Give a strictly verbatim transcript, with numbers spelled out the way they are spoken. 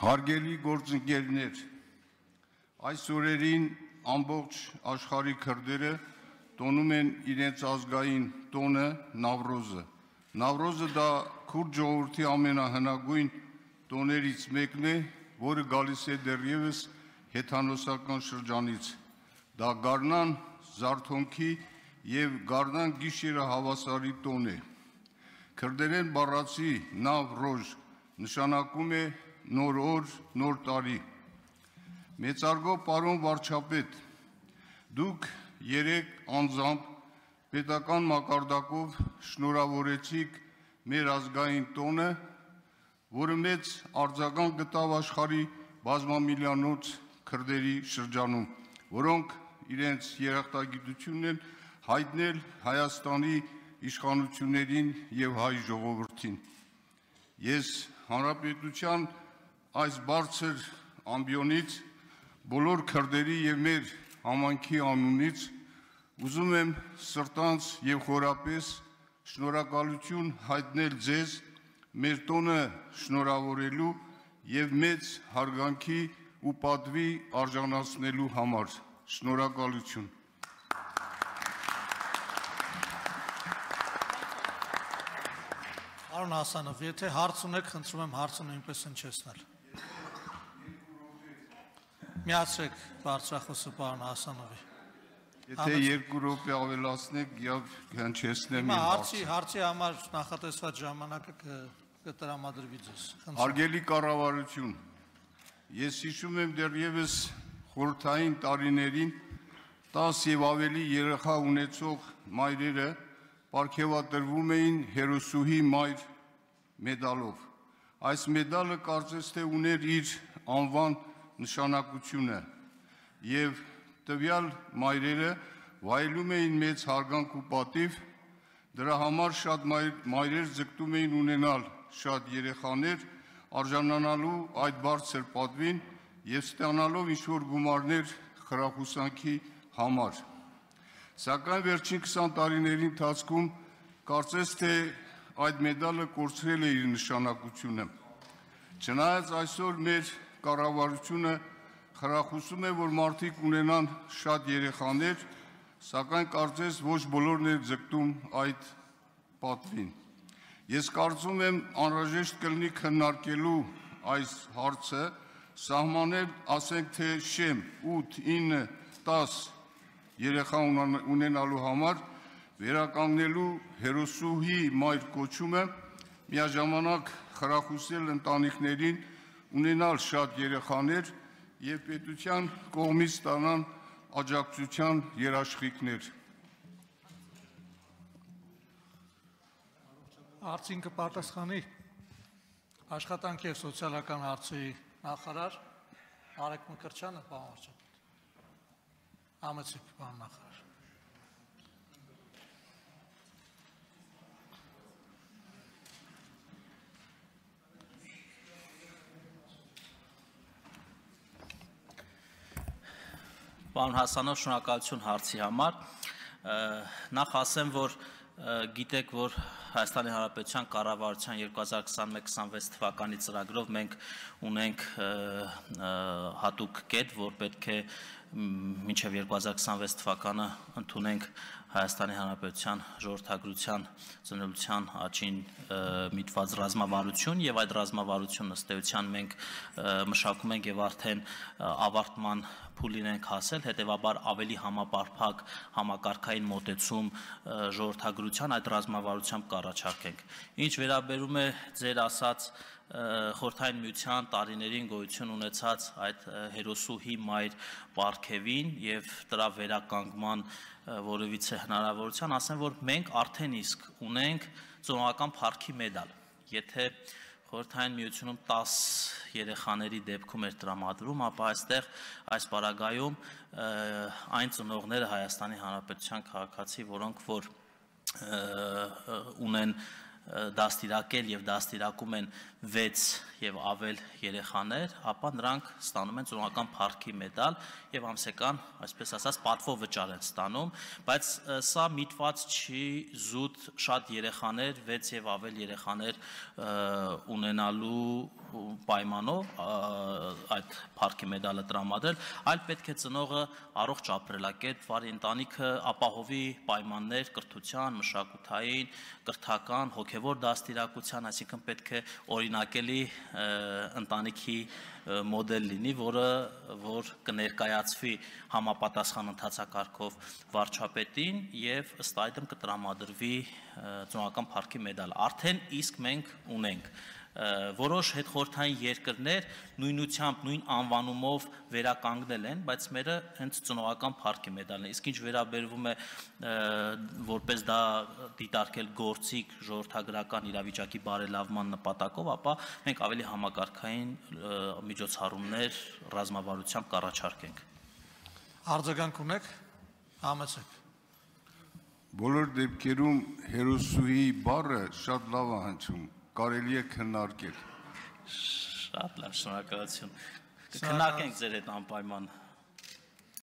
Հարգելի գործընկերներ, այս օրերին ամբողջ աշխարհի քրդերը տոնում են իրենց ազգային տոնը Նավրոզը։ Նավրոզը դա քուրդ ժողովրդի ամենահնագույն տոներից մեկն է, որը գալիս է դեռևս հեթանոսական շրջանից։ Դա գարնան զարթոնքի եւ գարնան գիշերը հավասարի տոն է։ Քրդերեն բառացի Նավրոզ նշանակում է նոր օր, նոր տարի։ Մեծարգո պարոն վարչապետ, դուք երեք անձամբ պետական մակարդակով շնորհավորեցիք մեր ազգային տոնը, որը մեծ արձագանք գտավ աշխարհի բազմամիլիոնոց քրդերի շրջանում, որոնք իրենց երախտագիտությունն են հայտնել Հայաստանի իշխանություններին եւ հայ ժողովրդին։ Ես հանրապետության այս բարձր ամբիոնից բոլոր քրդերի եւ մեր համայնքի անունից ուզում եմ սրտանց եւ խորապես շնորհակալություն հայտնել ձեզ մեր տոնը շնորհավորելու եւ մեծ հարգանքի ու պատվի արժանացնելու համար։ Շնորհակալություն։ Պարոն Հասանով, եթե հարց ունեք, խնդրում եմ հարցը նույնպես հնչեցնել։ Միացրեք բարձրախոսը պարոն Հասանովի։ Եթե երկու րոպե ավելացնեք, եւ հնչեցնեմ իմ հարցը։ Հարցի համար նախատեսված ժամանակը կտրամադրվի ձեզ։ Հարգելի կառավարություն, ես հիշում եմ դեռևս խորհրդային տարիներին տաս եւ ավելի երեխա ունեցող մայրերը պարգևատրվում էին հերոսուհի մայր մեդալով։ Այս մեդալը կարծես թե ուներ իր անվան նշանակությունը եւ տվյալ մայրերը վայելում էին մեծ հարգանք ու պատիվ, դրա համար շատ մայրեր ձգտում էին ունենալ շատ երեխաներ, արժանանալու այդ բարձր պատվին եւ ստանալով ինչ-որ գումարներ խրախուսանքի համար։ Սակայն վերջին քսան տարիների ընթացքում կարծես թե այդ մեդալը կորցրել է իր նշանակությունը։ Չնայած այսօր մեր կառավարությունը խրախուսում է, որ մարդիկ ունենան շատ երեխաներ, սակայն կարծես ոչ բոլորն են ձգտում այդ պատվին։ Ես կարծում եմ անհրաժեշտ կլինի քննարկելու այս հարցը, սահմանել, ասենք թե շեմ ութ, ինը, տաս երեխա ունենալու համար վերականգնելու հերոսուհի մայր կոչումը, միաժամանակ խրախուսել ընտանիքներին ունենալ շատ երեխաներ եւ պետության կողմից ստանան աջակցության երաշխիքներ։ Հարցին կպատասխանի աշխատանքի եւ սոցիալական հարցերի նախարար Արեգ Մկրտչյանը, պարոն վարչապետ։ Համեցեք, պարոն նախարար։ Պարոն Հասանով, շնորհակալություն հարցի համար։ Նախ ասեմ, որ գիտեք, որ Հայաստանի Հանրապետության կառավարության երկու հազար քսանմեկ քսանվեց թվականի ծրագրով մենք ունենք հատուկ կետ, որ պետք է մինչև երկու հազար քսանվեց թվականը ընդունենք Հայաստանի Հանրապետության ժողովրդագրության ծնելիության աճին միտված ռազմավարություն եւ այդ ռազմավարությունը ըստ էության մենք մշակում ենք եւ արդեն ավարտման փուլին ենք հասել, հետեւաբար ավելի համապարփակ համակարգային մոտեցում ժողովրդագրության այդ ռազմավարությամբ կառաջարկենք։ Ինչ վերաբերում է ձեր ասած խորհրդային միության տարիներին գոյություն ունեցած այդ հերոսուհի մայր պարգևին եւ դրա վերականգնման որևիցե հնարավորության, ասեմ, որ մենք արդեն իսկ ունենք ծնողական փառքի մեդալ։ Եթե խորհրդային միությունում տաս երեխաների դեպքում էր տրամադրում, ապա այստեղ այս պարագայում այն ծնողները Հայաստանի Հանրապետության քաղաքացի, որոնք որ ունեն դաստիարակել եւ դաստիարակում են վեց եւ ավել երեխաներ, ապա նրանք ստանում են ծնողական փառքի մեդալ եւ ամսական, այսպես ասած, պատվո վճար են ստանում, բայց սա միտված չի զուտ շատ երեխաներ, վեց եւ ավել երեխաներ ունենալու պայմանով այդ փառքի մեդալը տրամադրել, այլ պետք է ծնողը առողջ ապրելակերպ, վարի ընտանիքը ապահովի պայմաններ կրթության, մշակութային, կրթական, հոգևոր դաստիարակության, այսինքն պետք է օրինակելի ընտանիքի մոդել լինի, որը որ կներկայացվի համապատասխան ընթացակարգով վարչապետին եւ ըստ այդմ կտրամադրվի ծնողական փառքի մեդալ։ Արդեն իսկ մենք ունենք որոշ հետխորհրդային երկրներ նույնությամբ նույն անվանումով վերականգնել են, բայց մերը հենց ծնողական փառքի մեդալն է։ Իսկ ինչ վերաբերվում է որպես դա դիտարկել գործիք ժողովրդագրական իրավիճակի բարելավման նպատակով, ապա մենք ավելի համակարգային միջոցառումներ ռազմավարությամբ կառաջարկենք։ Արձագանք ունեք, համեցեք։ Բոլոր դեպքերում հերոսուհի բառը շատ լավ է հնչում, կարելի է քննարկել։ Շատ լավ, շնորհակալություն։ Կքննարկենք ձեր հետ անպայման